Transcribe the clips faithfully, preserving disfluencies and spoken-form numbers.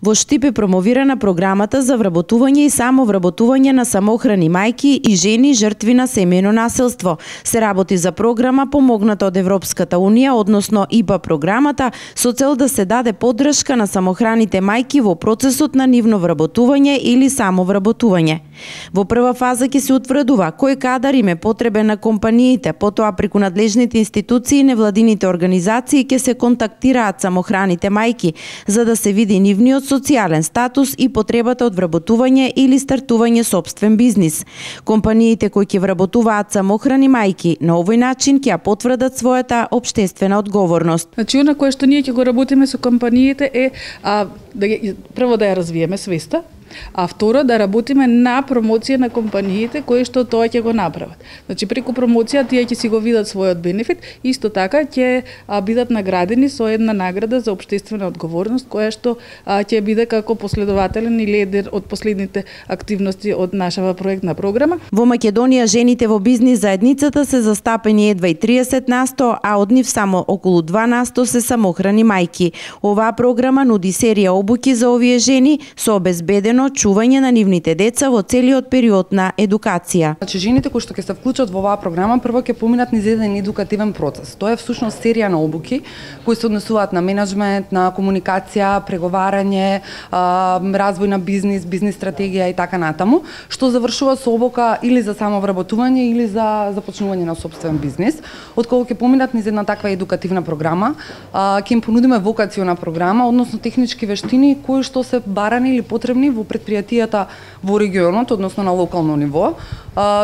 Во Штип е промовирана програмата за вработување и самовработување на самохрани мајки и жени жртви на семејно насилство. Се работи за програма помогната од Европската унија, односно И П А програмата, со цел да се даде поддршка на самохраните мајки во процесот на нивно вработување или самовработување. Во прва фаза ќе се утврдува кој кадар им е потребен на компаниите, потоа преку надлежните институции и невладините организации ќе се контактираат самохраните мајки за да се види нивниот социјален статус и потребата од вработување или стартување сопствен бизнис. Компаниите кои ќе вработуваат самохрани мајки на овој начин ќе ја потврдат својата општествена одговорност. Значи, она кое што ние ќе го работиме со компаниите е а, да, прво да ја развиеме свеста, а второ да работиме на промоција на компаниите кои што тоа ќе го направат. Значи преку промоција тие ќе си го видат својот бенефит, исто така ќе бидат наградени со една награда за општествена одговорност која што а, ќе биде како последователен и лидер од последните активности од нашава проектна програма. Во Македонија жените во бизнис заедницата се застапени едва и триесет насто, а од нив само околу два насто се самохрани мајки. Оваа програма нуди серија обуки за овие жени со обезбедено чување на нивните деца во целиот период на едукација. Значи жените кои што ќе се вклучат во оваа програма прво ќе поминат низ еден едукативен процес. Тоа е всушност серија на обуки кои се однесуваат на менеджмент, на комуникација, преговарање, развој на бизнис, бизнис стратегија и така натаму, што завршува со обука или за самовработување или за започнување на сопствен бизнис. Откако ќе поминат низ една таква едукативна програма, ќе им понудиме вокациона програма, односно технички вештини кои што се барани или потребни во предпријатијата во регионот, односно на локално ниво.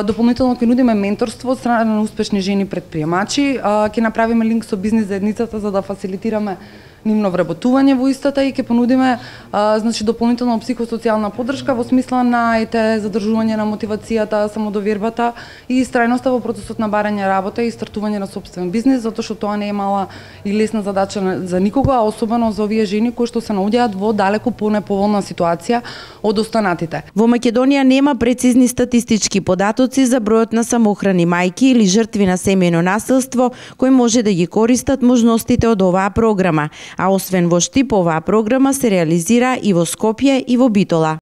Дополнително ќе нудиме менторство од страна на успешни жени предприемачи, ќе направиме линк со бизнис заедницата за да фасилитираме нивно вработување во истата и ќе понудиме а, значи дополнително психосоцијална поддршка во смисла на ете задржување на мотивацијата, самодовербата и истрајноста во процесот на барање работа и стартување на сопствен бизнис, затоа што тоа не е мала и лесна задача за никога, а особено за овие жени кои што се наоѓаат во далеку понеповолна ситуација од останатите. Во Македонија нема прецизни статистички податоци за бројот на самохрани мајки или жртви на семејно насилство кои може да ги користат можностите од оваа програма. А освен во Штип, оваа програма се реализира и во Скопје и во Битола.